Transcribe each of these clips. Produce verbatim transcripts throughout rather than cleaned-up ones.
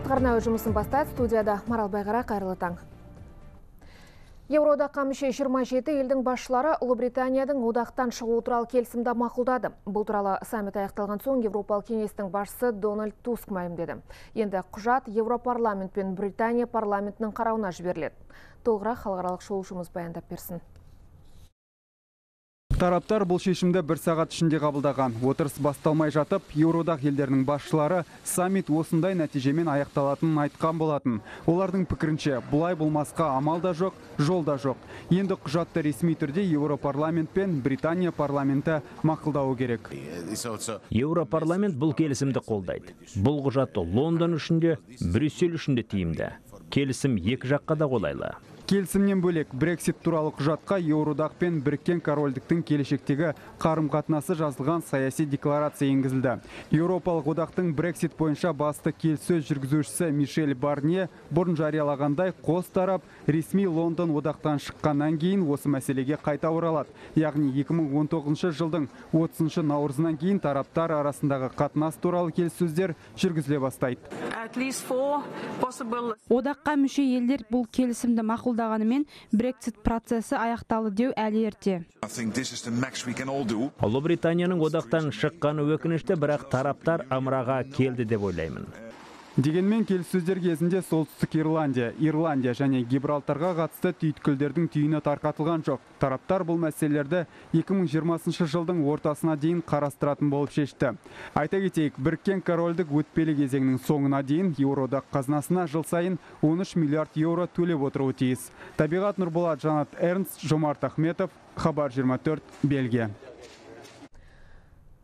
Спортқа арнау жұмысын бастады. Студияда Марал Байғара, қайырлы таң. Еуроодаққа мүше жиырма жеті елдің басшылары Ұлыбританияның одақтан шығу туралы келісімді мақұлдады. Бұл туралы саммит аяқталған соң Еуропалық кеңестің басшысы Дональд Туск мәлімдеді. Енді құжат Еуропарламент пен Британия парламентінің қарауына жіберіледі. Толығырақ халықаралық шолушымыз баяндап берсін. Тараптар бұл шешімді бір сағат ішінде қабылдаған. Отырыс басталмай жатып, Еуроодақ елдерінің басшылары саммит осындай нәтижемен аяқталатынын айтқан болатын. Олардың пікірінше, бұлай болмасқа амал да жоқ, жол да жоқ. Енді құжатты ресми түрде Еуропарламент пен Британия парламенті мақұлдауы керек. Еуропарламент бұл келісімді қолдайды. Бұл құжатты Лондон үшін де, Брюссель үшін де тиімді. Келісім екі жаққа да қолайлы. Келісімнен бөлек Брексит туралы құжатқа Еуроодақ пен Біріккен Корольдіктің келешектегі қарым-қатынасы жазылған саяси декларация енгізілді. Еуропалық одақтың Брексит бойынша басты келіссөз жүргізушісі Мишель Барние бұрын жариялағандай қос тарап ресми Лондон одақтан шыққаннан кейін осы мәселеге қайта оралады. Яғни екі мың он тоғызыншы жылдың отызыншы наурызынан кейін тараптар арасындағы қатынас туралы келіссөздер жүргізіле бастайды. Одаққа мүше елдер бұл келісімді мақұлдағанымен Брексит процесі аяқталды деу әлі ерте. Ұлыбританияның одақтан шыққаны өкінішті, бірақ тараптар ымыраға келді деп ойлаймын. Дегенмен келіссөздер кезінде Солтүстік Ирландия, Ирландия және Гибралтарға қатысты түйткілдердің түйіні тарқатылған жоқ. Тараптар бұл мәселелерді екі мың жиырмасыншы жылдың ортасына дейін қарастыратын болып шешті. Айта кетейік, Біріккен Корольдік өтпелі кезеңнің соңына дейін Еуроодақ қазынасына жыл сайын он үш миллиард еуро төлеп отыруы тиіс. Табиғат Нұрболат, Жанат Эрнст, Жомарт Ахметов, Хабар жиырма төрт, Бельгия.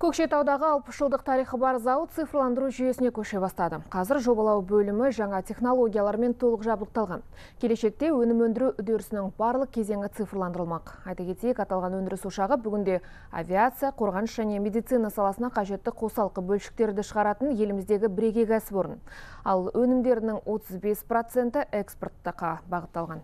Көкшетаудағы алпыс жылдық тарихы бар зауыт цифрландыру жүйесіне көше бастады. Қазір жобалау бөлімі жаңа технологиялармен толық жабдықталған. Келешекте өнім өндіру үдерісінің барлық кезеңі цифрландырылмақ. Айта кетейік, аталған өндіріс ошағы бүгінде авиация, қорғаныс және медицина саласына қажетті қосалқы бөлшектерді шығаратын еліміздегі бірегей кәсіпорын. Ал өнімдерінің отыз бес проценті экспортқа бағытталған.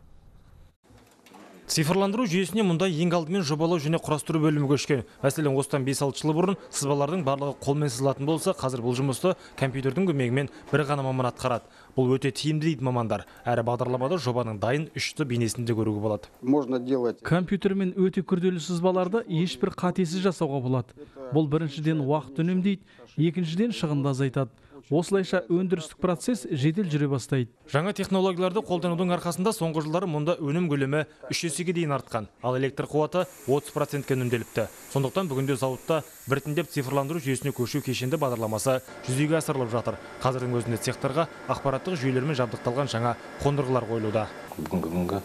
Цифрландыру жүйесіне мұндай ең алдымен жобалау және құрастыру бөлімі көшкен. Мәселен, осыдан бес алты жыл бұрын сызбалардың барлығы қолмен сызылатын болса, қазір бұл жұмысты компьютердің көмегімен бір ғана маман атқарады. Бұл өте тиімді дейді мамандар. Әрі бағдарламада жобаның дайын үшті бейнесінде көруге болады. Можно делать. Компьютермен өте күрделі сызбаларды ешбір қатесіз жасауға болады. Бұл біріншіден уақыт үнемдейді, екіншіден шығынды азайтады. Осылайша өндірістік процесс жедел жүре бастайды. Жаңа технологияларды қолданудың арқасында соңғы жылдары мұнда өнім көлемі үш есеге дейін артқан, ал электр қуаты отыз процентке үнемделіпті. Сондықтан бүгінде зауытта біртіндеп цифрландыру жүйесіне көшу кешенді бағдарламасы жүзеге асырылып жатыр. Қазірдің өзінде цехтарға ақпараттық жүйелермен жабдықталған жаңа қондырғылар қойылуда. Бүгінгі күнгі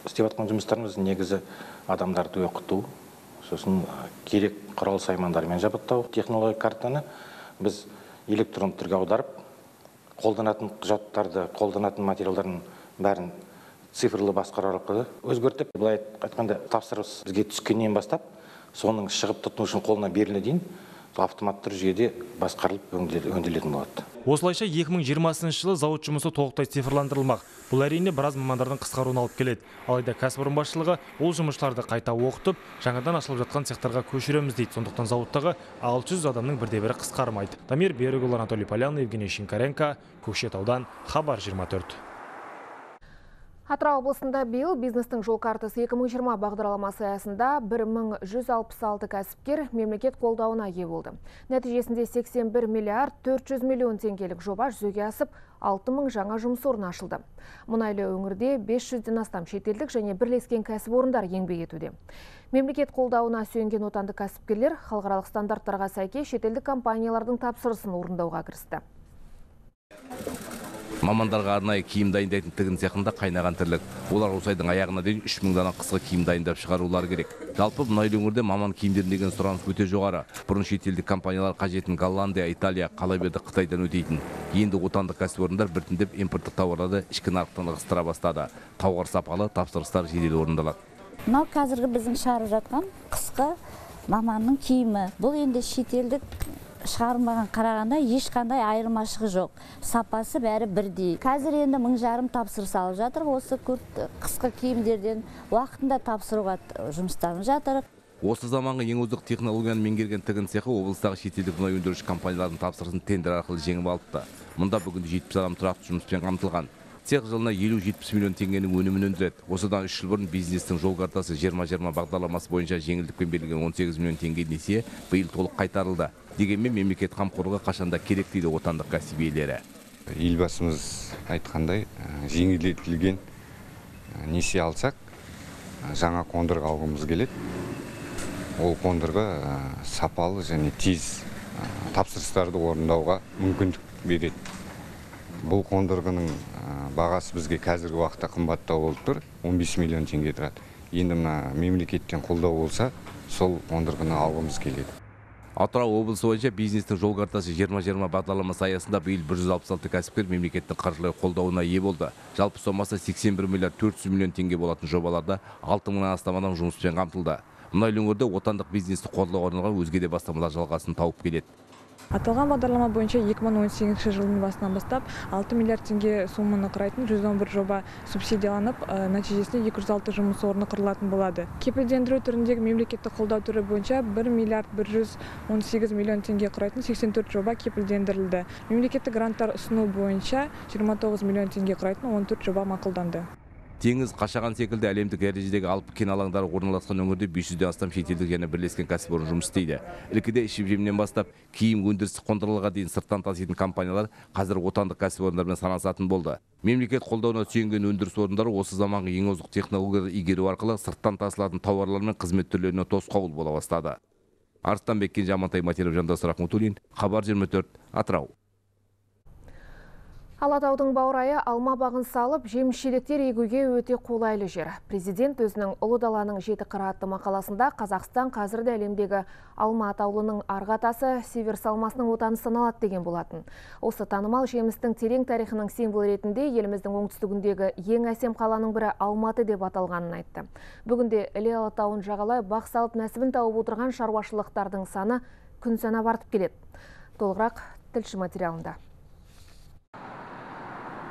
істеп жатқан жұмыстарымыз негізі адамдарды оқыту, сосын керек құрал саймандармен жабдықтау. Технология картаны біз электронды түрге аударып, қолданатын құжаттарды, қолданатын материалдардың бәрін цифрлы басқару арқылы өзгертіп, былай айтқанда тапсырыс бізге түскеннен бастап, соның шығып тұтынушының қолына беріле дейін автоматты жүйеде басқарылып өңделетін болады. Осылайша екі мың жиырмасыншы жылы зауыт жұмысы толықтай цифрландырылмақ. Бұл әрине біраз мамандардың қысқаруына алып келеді. Алайда кәсіпорын басшылығы ол жұмысшыларды қайта оқытып, жаңадан ашылып жатқан цехтарға көшіреміз дейді. Сондықтан зауыттағы алты жүз адамның бірде-бірі қысқармайды. Дамир Берікұлы, Анатолий Полянный, Евгений Шинкаренко, Көкшетаудан, Хабар жиырма төрт. Атырау облысында биыл бизнестің жол картасы екі мың жиырма бағдарламасы аясында бір мың жүз алпыс алты кәсіпкер мемлекет қолдауына ие болды. Нәтижесінде сексен бір миллиард төрт жүз миллион теңгелік жоба жүзеге асып, алты мың жаңа жұмыс орны ашылды. Мұнайлы өңірде бес жүзден астам шетелдік және бірлескен кәсіпорындар еңбек етуде. Мемлекет қолдауына сүйенген отандық кәсіпкерлер халықаралық стандарттарға сәйкес шетелдік компаниялардың тапсырысын орындауға кірісті. Мамандарға арнайы киім дайындайтын тігін цехында қайнаған тірлік. Олар осы айдың аяғына дейін үш мың дана қысқы киім дайындап шығарулары керек. Жалпы мұнайлы өңірде маман киімдеріне деген сұраныс өте жоғары. Бұрын шетелдік компаниялар қажетін Голландия, Италия, қала берді Қытайдан өтейтін. Енді отандық кәсіпорындар біртіндеп импорттық тауарларды ішкі нарықтан ығыстыра бастады. Тауар сапалы, тапсырыстар жедел орындалады. Мынау қазіргі біздің шығарып жатқан қысқы маманның киімі. Бұл енді шетелдік шығармаған қарағанда ешқандай айырмашылығы жоқ. Сапасы бәрі бірдей. Қазір енді мың жарым тапсырыс алып жатыр. Осы қысқы киімдерден уақытында тапсыруға жұмыстарымыз жатыр. Осы заманғы ең озық технологияны меңгерген тігін цехы облыстағы шетелдік мұнай өндіруші компаниялардың тапсырысын тендер арқылы жеңіп алыпты. Мұнда бүгінде жетпіс адам тұрақты жұмыспен қамтылған. Цех жылына елу жетпіс миллион теңгенің өнімін өндіреді. Осыдан үш жыл бұрын бизнестің жол картасы жиырма жиырма бағдарламасы бойынша жеңілдікпен берілген он сегіз миллион теңге несие биыл толық қайтарылды. Дегенмен мемлекет қамқорлығы қашанда керек дейді отандық кәсіп иелері. Елбасымыз айтқандай, жеңілдетілген несие алсақ, жаңа қондырғы алғымыз келеді. Ол қондырғы сапалы және тез тапсырыстарды орындауға мүмкіндік береді. Бұл қондырғының бағасы бізге қазіргі уақытта қымбаттау болып тұр, он бес миллион теңге тұрады. Енді мына мемлекеттен қолдау болса, сол қондырғыны алғымыз келеді. Атырау облысы бойынша бизнестің жол картасы жиырма жиырма бағдарламасы аясында биыл бір жүз алпыс алты кәсіпкер мемлекеттің қаржылай қолдауына ие болды. Жалпы сомасы сексен бір миллиард төрт жүз миллион теңге болатын жобаларда алты мыңнан астам адам жұмыспен қамтылды. Мұнайлы өңірде отандық бизнесті қолдауға арналған өзге де бастамалар жалғасын тауып келеді. Аталған бағдарлама бойынша екі мың он сегізінші жылдың басынан бастап алты миллиард теңге соманы құрайтын жүз он бір жоба субсидияланып, нәтижесінде екі жүз алты жұмыс орны құрылатын болады. Кепілдендіру түріндегі мемлекеттік қолдау түрі бойынша бір миллиард бір жүз он сегіз миллион теңге құрайтын сексен төрт жоба кепілдендірілді. Мемлекеттік гранттар ұсыну бойынша жиырма тоғыз миллион теңге құрайтын он төрт жоба мақұлданды. Теңіз, Қашаған секілді әлемдік дәрежедегі алып кен алаңдары орналасқан өңірде бес жүзден астам шетелдік және бірлескен кәсіпорын жұмыс істейді. Ілкіде ішіп-жемнен бастап киім өндірісі қондырғыға дейін сырттан таситын компаниялар қазір отандық кәсіпорындармен санасатын болды. Мемлекет қолдауына сүйенген өндіріс орындары осы заманғы ең озық технологияларды игеру арқылы сырттан тасылатын тауарлар мен қызмет түрлеріне тосқауыл бола бастады. Арыстанбек Кенже, Амантай Матеров, Жандос Рахметуллин, Хабар жиырма төрт, Атырау. Алатаудың баурайы алма бағын салып, жеміс-жидектер егуге өте қолайлы жер. Президент өзінің ұлы даланың жеті қыры атты мақаласында Қазақстан қазірде әлемдегі алма атаулының арғатасы север салмасының отаны саналады деген болатын. Осы танымал жемістің терең тарихының символ ретінде еліміздің оңтүстігіндегі ең әсем қаланың бірі Алматы деп аталғанын айтты. Бүгінде Іле Алатауын жағалай бақ салып нәсібін тауып отырған шаруашылықтардың саны күн санап артып келеді. Толығырақ тілші материалында.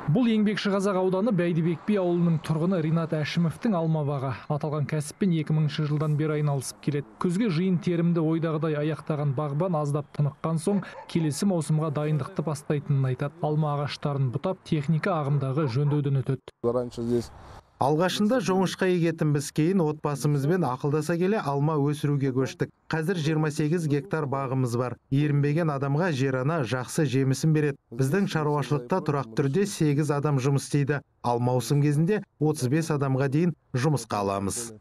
Бұл еңбекші Қазақ ауданы Бәйдібек би ауылының тұрғыны Ринат Әшімовтің алма бағы. Аталған кәсіппен екі мыңыншы жылдан бері айналысып келеді. Күзге жиын терімді ойдағыдай аяқтаған бағбан аздап тыныққан соң келесі маусымға дайындықты бастайтынын айтады. Алма ағаштарын бұтап, техника ағымдағы жөндеуден өтеді. Алғашында жоңышқа егетінбіз, кейін отбасымызбен ақылдаса келе алма өсіруге көштік. Қазір жиырма сегіз гектар бағымыз бар. Ерінбеген адамға жер ана жақсы жемісін береді. Біздің шаруашылықта тұрақ түрде сегіз адам жұмыс істейді. Ал маусым кезінде отыз бес адамға дейін жұмысқа аламыз.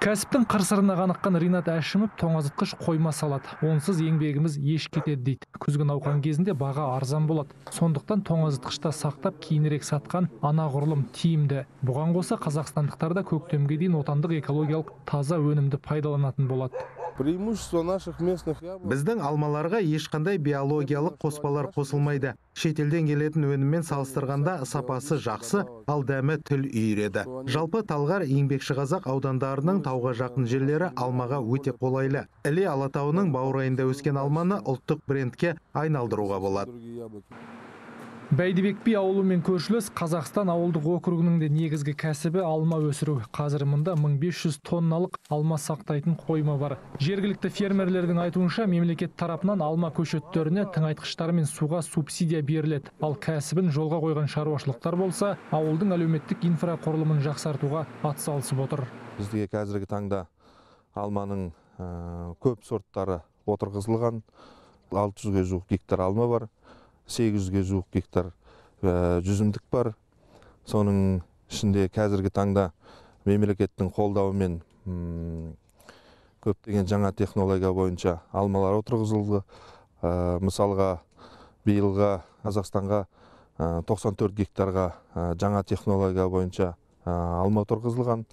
Кәсіптің қыр-сырына қаныққан Ринат Әшімов тоңазытқыш қойма салады. Онсыз еңбегіміз еш кетеді дейді. Күзгі науқан кезінде баға арзан болады. Сондықтан тоңазытқышта сақтап кейінірек сатқан анағұрлым тиімді. Бұған қоса қазақстандықтар да көктемге дейін отандық экологиялық таза өнімді пайдаланатын болады. Біздің алмаларға ешқандай биологиялық қоспалар қосылмайды. Шетелден келетін өніммен салыстырғанда сапасы жақсы, ал дәмі тіл үйіреді. Жалпы Талғар, Еңбекші Қазақ аудандарының тауға жақын жерлері алмаға өте қолайлы. Іле Алатауының баурайында өскен алманы ұлттық брендке айналдыруға болады. Бәйдібек би ауылымен көршілес Қазақстан ауылдық округінің де негізгі кәсібі алма өсіру. Қазір мұнда мың бес жүз тонналық алма сақтайтын қойма бар. Жергілікті фермерлердің айтуынша мемлекет тарапынан алма көшеттеріне тыңайтқыштар мен суға субсидия беріледі. Ал кәсібін жолға қойған шаруашылықтар болса, ауылдың әлеуметтік инфрақұрылымын жақсартуға атсалысып отыр. Бізде қазіргі таңда алманың көп сорттары отырғызылған. алты жүзге жуық гектар алма бар. сегіз жүзге жуық гектар жүзімдік бар. Соның ішінде қазіргі таңда мемлекеттің қолдауымен көптеген жаңа технология бойынша алмалар отырғызылды. Мысалға, биылға Қазақстанға тоқсан төрт гектарға жаңа технология бойынша алма отырғызылған.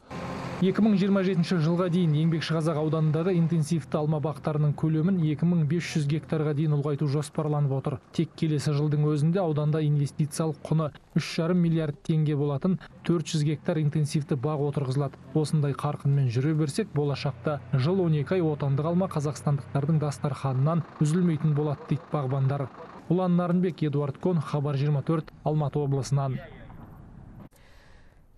екі мың жиырма жетінші жылға дейін Еңбекші Қазақ ауданындағы интенсивті алма бақтарының көлемін екі мың бес жүз гектарға дейін ұлғайту жоспарланып отыр. Тек келесі жылдың өзінде ауданда инвестициялық құны үш жарым миллиард теңге болатын төрт жүз гектар интенсивті бақ отырғызылады. Осындай қарқынмен жүре берсек, болашақта жыл он екі ай отандық алма қазақстандықтардың дастарханынан үзілмейтін болады дейді бағбандар. Ұлан Нарынбек, Эдуард Кон, Хабар жиырма төрт, Алматы облысынан.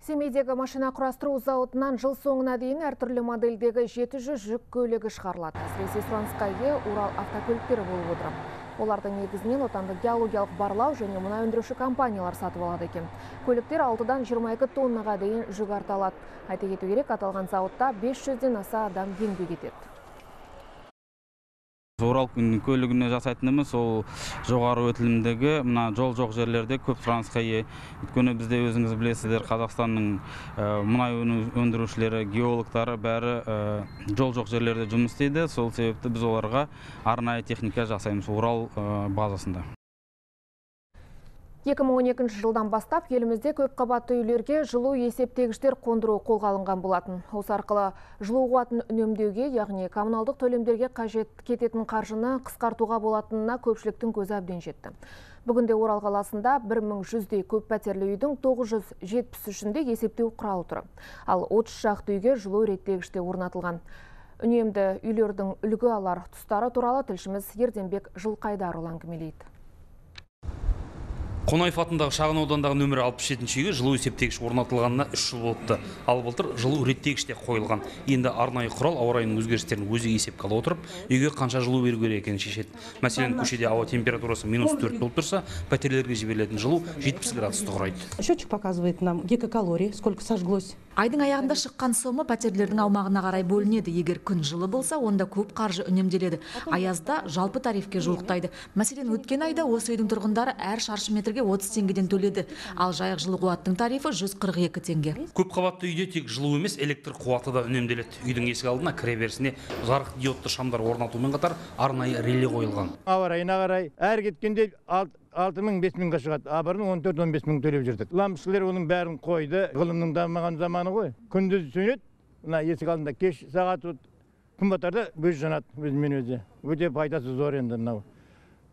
Семейдегі машина құрастыру зауытынан жыл соңына дейін әртүрлі модельдегі жеті жүз жүк көлігі шығарылады. Әсіресе сұранысқа ие Урал автокөліктері болып отыр. Олардың негізінен отандық геологиялық барлау және мұнай өндіруші компаниялар сатып алады екен. Көліктер алтыдан жиырма екі тоннаға дейін жүк арта алады. Айта кету керек, аталған зауытта бес жүзден аса адам еңбек етеді. Орал көлігіне жасайтынымыз ол жоғары өтілімдегі мына жол жоқ жерлерде көп сұранысқа ие. Өйткені бізде өзіңіз білесіздер, Қазақстанның мұнай өндірушілері, геологтары бәрі жол жоқ жерлерде жұмыс істейді. Сол себепті біз оларға арнайы техника жасаймыз Орал базасында. екі мың он екінші жылдан бастап елімізде көп қабатты үйлерге жылу есептегіштер қондыру қолға алынған болатын. Осы арқылы жылу қуатын үнемдеуге, яғни коммуналдық төлемдерге қажет кететін қаржыны қысқартуға болатынына көпшіліктің көзі әбден жетті. Бүгінде Орал қаласында бір мың жүздей көп пәтерлі үйдің тоғыз жүз жетпіс үшінде есептеу құралы тұр. Ал отыз шақты үйге жылу реттегіште орнатылған. Үнемді үйлердің үлгі алар тұстары туралы тілшіміз Ерденбек Жылқайдарұлы әңгімелейді. Қонаев атындағы шағын аудандағы нөмірі алпыс жетінші үйге жылу есептегіш орнатылғанына үш жыл болыпты. Ал былтыр жылу реттегіш те қойылған. Енді арнайы құрал ауа райының өзгерістерін өзі есепке ала отырып, үйге қанша жылу беру керек екенін шешеді. Мәселен, көшеде ауа температурасы минус төрт болып тұрса, пәтерлерге жіберілетін жылу жетпіс градусты құрайды. Счетчик показывает нам гигакалорий, сколько сожглось. Айдың аяғында шыққан сома пәтерлердің аумағына қарай бөлінеді. Егер күн жылы болса, онда көп қаржы үнемделеді. Аязда жалпы тарифке жуықтайды. Мәселен, өткен айда осы үйдің тұрғындары әр шаршы метрге отыз теңгеден төледі. Ал жайық жылу қуаттың тарифі жүз қырық екі теңге. Көп қабатты үйде тек жылу емес, электр қуаты да үнемделеді. Үйдің есік алдына кіреберісіне жарық диодты шамдар орнатумен қатар арнайы реле қойылған. Ауа райына қарай әр кеткенде алты мың бес мыңға шығады. Абырын он төрт он бес мың төлеп жүрдік. Лампышылар оның бәрін қойды. Ғылымның дамыған заманы ғой. Күндіз сөнеді. Мына есік алдында кеш сағат күн батарда өз жанады өзімен өзі. Өте пайдасы зор енді мынау.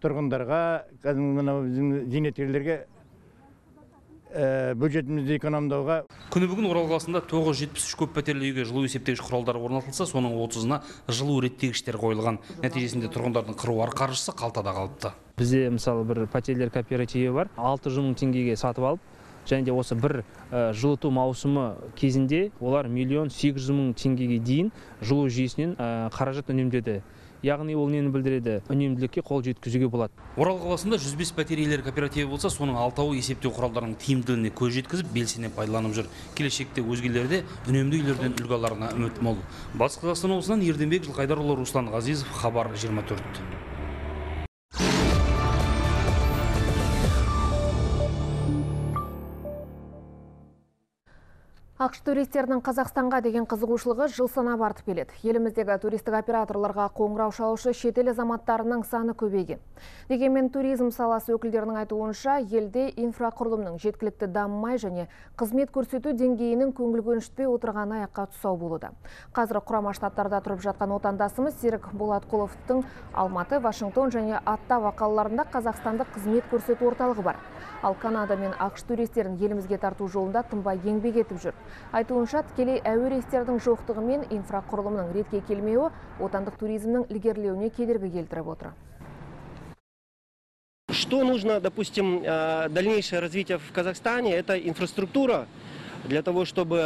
Тұрғындарға, мынау зейнеткерлерге бюджетімізді экономдауға. Күні бүгін Орал қаласында тоғыз жүз жетпіс үш көп пәтерлі үйге жылу есептегіш құралдары орнатылса, соның отызына жылу реттегіштер қойылған. Нәтижесінде тұрғындардың қыруар қаржысы қалтада қалыпты. Бізде мысалы бір пәтерлер кооперативі бар, алты жүз мың теңгеге сатып алып, және де осы бір жылыту маусымы кезінде олар миллион сегіз жүз мың теңгеге дейін жылу жүйесінен қаражат үнемдеді. Яғни ол нені білдіреді? Үнемділікке қол жеткізуге болады. Орал қаласында жүз бес пәтер иелері кооперативі болса, соның алтауы есептеу құралдарының тиімділігіне көз жеткізіп, белсене пайдаланып жүр. Келешекте өзгелері де үнемді үйлерден үлгі аларына үміт мол. Батыс Қазақстан облысынан Ерденбек Жылқайдарұлы, Руслан Ғазизов, Хабар жиырма төрт. Ақш туристердің Қазақстанға деген қызығушылығы жыл санап артып келеді. Еліміздегі туристік операторларға қоңырау шалушы шетел азаматтарының саны көбейген. Дегенмен туризм саласы өкілдерінің айтуынша, елде инфрақұрылымның жеткілікті дамымай және қызмет көрсету деңгейінің көңіл көншітпей отырғаны аяққа тұсау болуда. Қазір Құрама Штаттарда тұрып жатқан отандасымыз Серік Болатқұловтың Алматы, Вашингтон және Оттава қалаларында қазақстандық қызмет көрсету орталығы бар. Ал Канада мен ақш туристерін елімізге тарту жолында тынбай еңбек етіп жүр. Айтуынша, тікелей әуе рейстердің жоқтығы мен инфрақұрылымның ретке келмеуі отандық туризмнің ілгерілеуіне кедергі келтіріп отыр. Что нужно, допустим, дальнейшее развитие в Казахстане, это инфраструктура. Для того, чтобы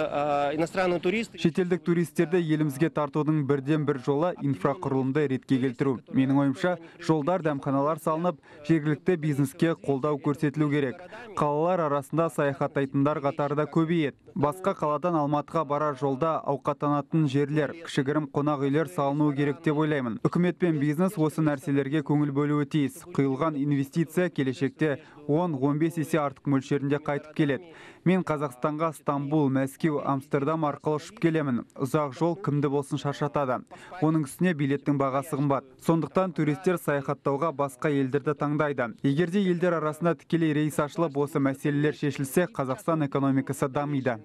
иностранные туристы... Шетелдік туристерді елімізге тартудың бірден бір жолы инфрақұрылымды ретке келтіру. Менің ойымша, жолдар, дәмханалар салынып, жергілікті бизнеске қолдау көрсетілу керек. Қалалар арасында саяхаттайтындар қатары да көбейеді. Басқа қаладан Алматыға барар жолда ауқаттанатын жерлер, кішігірім қонақ үйлер салынуы керек деп ойлаймын. Үкімет пен бизнес осы нәрселерге көңіл бөлуі тиіс. Құйылған инвестиция келешекте он он бес есе артық мөлшерінде қайтып келеді. Мен Қазақстанға Стамбул, Мәскеу, Амстердам арқылы ұшып келемін. Ұзақ жол кімді болсын шаршатады. Оның үстіне билеттің бағасы қымбат. Сондықтан туристер саяхаттауға басқа елдерді таңдайды. Егерде елдер арасында тікелей рейс ашылып, осы мәселелер шешілсе, Қазақстан экономикасы дамиды.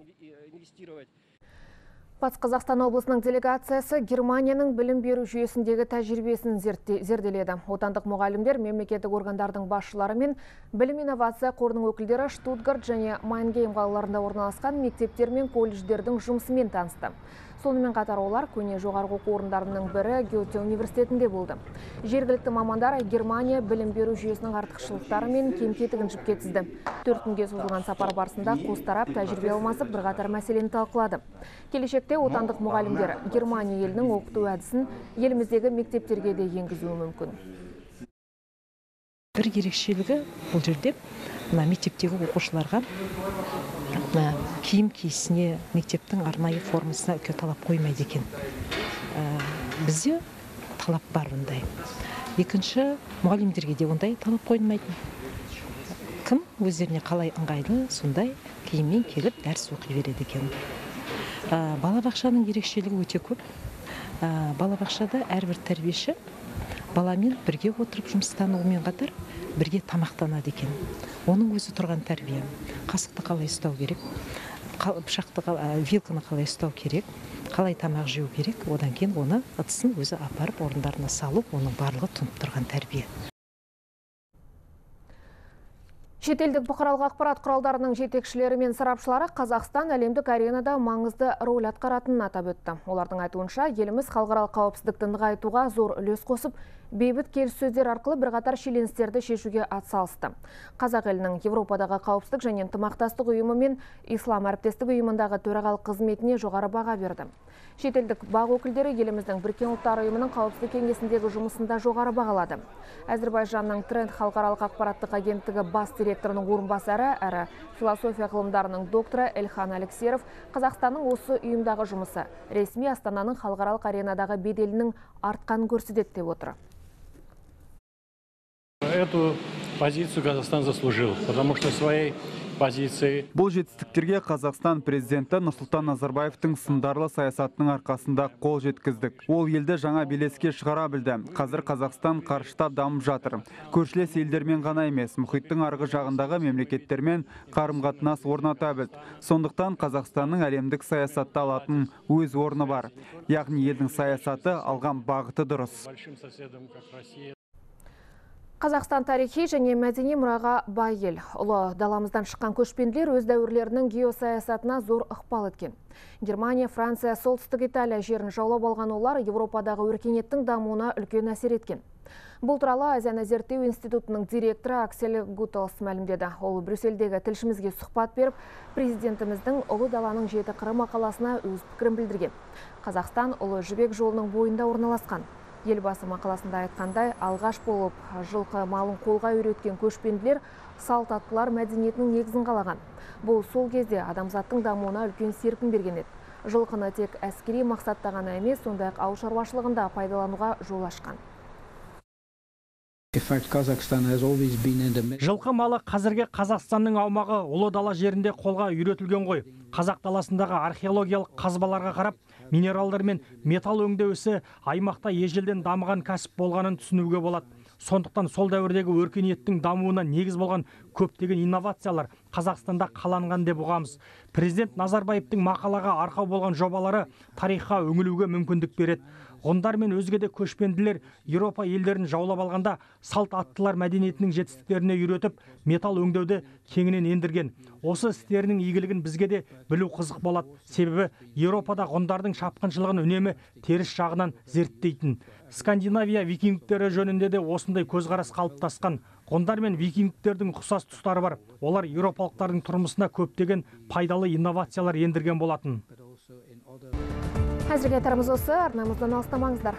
Батыс Қазақстан облысының делегациясы Германияның білім беру жүйесіндегі тәжірибесін зерделеді. Отандық мұғалімдер мемлекеттік органдардың басшылары мен білім инновация қорының өкілдері Штутгарт және Майнгейм қалаларында орналасқан мектептер мен колледждердің жұмысымен танысты. Сонымен қатар олар көне жоғарғы оқу орындарының бірі Гёте университетінде болды. Жергілікті мамандар Германия білім беру жүйесінің артықшылықтары мен кем-кетігін жіпке тізді. Төрт күнге созылған сапар барысында қос тарап тәжірибе алмасып бірқатар мәселені талқылады. Келешекте отандық мұғалімдер Германия елінің оқыту әдісін еліміздегі мектептерге де енгізуі мүмкін. Бір ерекшелігі бұл жерде мына мектептегі оқушыларға киім киісіне, мектептің арнайы формасына үлкен талап қоймайды екен. Бізде талап бар ондай. Екінші, мұғалімдерге де ондай талап қойылмайды. Кім өздеріне қалай ыңғайлы, сондай киіммен келіп дәріс оқи береді екен. Балабақшаның ерекшелігі өте көп. Балабақшада әрбір тәрбиеші баламен бірге отырып жұмыстануымен қатар бірге тамақтанады екен. Оның өзі тұрған тәрбие. Қасықты қалай ұстау керек, пышақты, вилканы қалай ұстау керек, қалай тамақ жеу керек, одан кейін оны ыдысын өзі апарып орындарына салып, оның барлығы тұнып тұрған тәрбие. Шетелдік бұқаралық ақпарат құралдарының жетекшілері мен сарапшылары Қазақстан әлемдік аренада маңызды рөл атқаратынын атап өтті. Олардың айтуынша, еліміз халықаралық қауіпсіздікті нығайтуға зор үлес қосып, бейбіт келіссөздер арқылы бірқатар шиеленістерді шешуге атсалысты. Қазақ елінің Европадағы қауіпсіздік және ынтымақтастық ұйымы мен Ислам әріптестік ұйымындағы төрағалық қызметіне жоғары баға берді. Шетелдік бақ өкілдері еліміздің Біріккен ұлттар ұйымының қауіпсіздік кеңесіндегі жұмысында жоғары бағалады. Әзірбайжанның Тренд халықаралық ақпараттық агенттігі бас директорының орынбасары әрі философия ғылымдарының докторы Эльхан Алексеров Қазақстанның осы ұйымдағы жұмысы ресми Астананың халықаралық аренадағы беделінің артқанын көрсетеді деп отыр. Эту позицию Казахстан заслужил, потому что своей позиции. Бұл жетістіктерге Қазақстан президенті Нұрсұлтан Назарбаевтың сындарлы саясатының арқасында қол жеткіздік. Ол елді жаңа белеске шығара білді. Қазір Қазақстан қарыштап дамып жатыр. Көршілес елдермен ғана емес, мұхиттың арғы жағындағы мемлекеттермен қарым-қатынас орната білді. Сондықтан Қазақстанның әлемдік саясатта алатын өз орны бар. Яғни елдің саясаты алған бағыты дұрыс. Қазақстан тарихи және мәдени мұраға бай ел. Ұлы даламыздан шыққан көшпенділер өз дәуірлерінің геосаясатына зор ықпал еткен. Германия, Франция, солтүстік Италия жерін жаулап алған олар Европадағы өркениеттің дамуына үлкен әсер еткен. Бұл туралы Азияны зерттеу институтының директоры Аксель Гуталс мәлімдеді. Ол Брюссельдегі тілшімізге сұхбат беріп, президентіміздің ұлы даланың жеті қыры мақаласына өз пікірін білдірген. Қазақстан ұлы жібек жолының бойында орналасқан. Елбасы мақаласында айтқандай, алғаш болып жылқы малын қолға үйреткен көшпенділер салт аттылар мәдениетінің негізін қалаған. Бұл сол кезде адамзаттың дамуына үлкен серпін берген еді. Жылқыны тек әскери мақсатта ғана емес, сондай-ақ ауыл шаруашылығында пайдалануға жол ашқан. Жылқы малы қазірге Қазақстанның аумағы ұлы дала жерінде қолға үйретілген ғой. Қазақ даласындағы археологиялық қазбаларға қарап, минералдар мен металл өңдеу ісі аймақта ежелден дамыған кәсіп болғанын түсінуге болады. Сондықтан сол дәуірдегі өркениеттің дамуына негіз болған көптеген инновациялар Қазақстанда қаланған деп ұғамыз. Президент Назарбаевтың мақалаға арқау болған жобалары тарихқа үңілуге мүмкіндік береді. Ғұндар мен өзге де көшпенділер Еуропа елдерін жаулап алғанда салт аттылар мәдениетінің жетістіктеріне үйретіп, металл өңдеуді кеңінен ендірген. Осы істерінің игілігін бізге де білу қызық болады. Себебі Еуропада ғұндардың шапқыншылығын үнемі теріс жағынан зерттейтін. Скандинавия викингтері жөнінде де осындай көзқарас қалыптасқан. Ғұндар мен викингтердің ұқсас тұстары бар. Олар еуропалықтардың тұрмысына көптеген пайдалы инновациялар ендірген болатын. Әзірге айтарымыз осы, арнамыздан алыстамаңыздар.